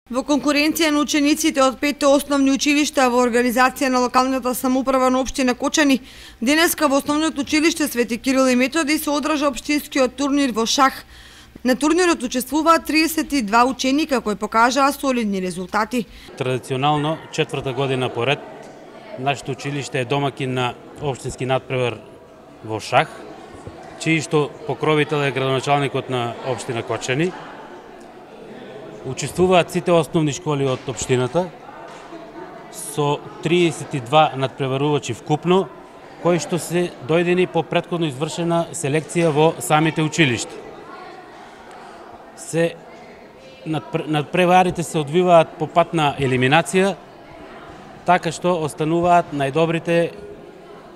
Во конкуренција на учениците од 5 основни училишта во организација на локалната самоуправа на општина Кочани, денеска во основното училиште Свети Кирил и Методи се одржа општинскиот турнир во шах. На турнирот учествуваат 32 ученика кои покажаа солидни резултати. Традиционално, четврта година поред, нашето училиште е домакин на општински надпревар во шах, чиј што покровител е градоначалникот на општина Кочани. Учествуваат сите основни школи од општината со 32 надпреварувачи вкупно, кои што се дојдени по претходно извршена селекција во самите училишта. Надпреварите се одвиваат по пат на елиминација, така што остануваат најдобрите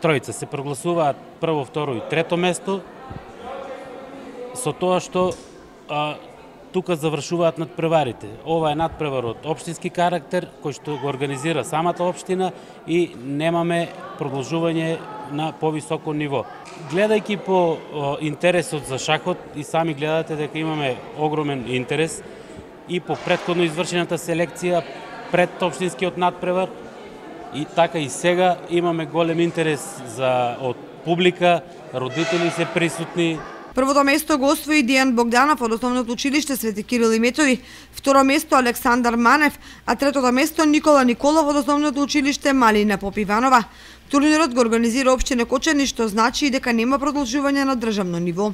тројца. Се прогласуваат прво, второ и трето место, со тоа што тука завршуваат надпреварите. Ова е надпревар од општински карактер, кој што го организира самата општина и немаме продолжување на повисоко ниво. Гледајќи по интересот за шахот, и сами гледате дека имаме огромен интерес и по претходно извршената селекција пред општинскиот надпревар, и така и сега имаме голем интерес од публика, родители се присутни. Првото место го освои Дијан Богданов од основното училиште Свети Кирил и Методи, второ место Александар Манев, а третото место Никола Николов од основното училиште Малина Попиванова. Турнирот го организира општина Кочани, што значи и дека нема продолжување на државно ниво.